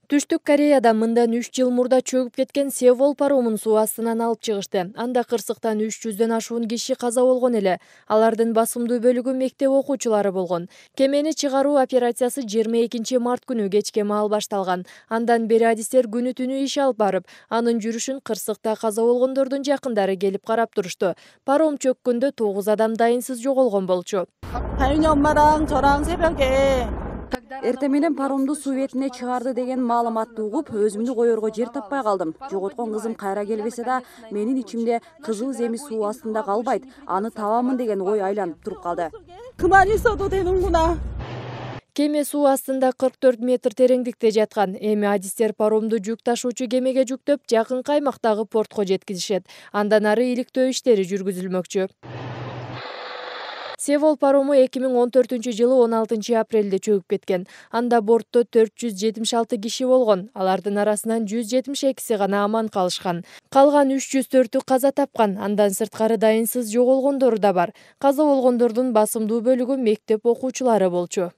Түштүк Кореяда мындан 3 жыл мурда чөгүп кеткен Сеул паромун суу астынан алып чыгышты. Анда кырсыктан 300дөн ашуун киши каза болгон эле. Алардын басымдуу бөлүгү мектеп окуучулары болгон. Кемени чыгаруу операциясы 22 март күнү кечке маал башталган. Андан бери адистер күнү түнү иш алып барып, анын жүрүшүн кырсыкта каза болгондордун жакындары келип карап турушту. Паром чөккөндө 9 адам дайынсыз жоголгон болчу. 다윤이 엄마랑 저랑 새벽에 Эртең менен паромду суу бетине чыгарды деген маалыматты угуп, өзүмдү коерго жер таппай калдым. Жоготкон кызым кайра келбесе да, менин ичимде кызыл земи суу астында калбайт, аны табамын деген ой айланып туруп калды. 그만 있어도 되는구나. Кеме суу астында 44 метр тереңдикте жаткан. Эми адистер паромду жүк ташуучу кемеге жүктөп, жакынкы аймактагы портко жеткизишет. Андан ары иликтөө иштери жүргүзүлмөкчү. Сеул парому 2014-жылы 16 апрелде чөгүп кеткен. Анда бортто 476 киши болгон. Алардын арасынан 172си гана аман калышкан. Калган 304-ü каза тапкан. Андан сырткары дайынсыз жоголгондору да бар. Каза болгондордун басымдуу бөлүгү мектеп окуучулары болчу.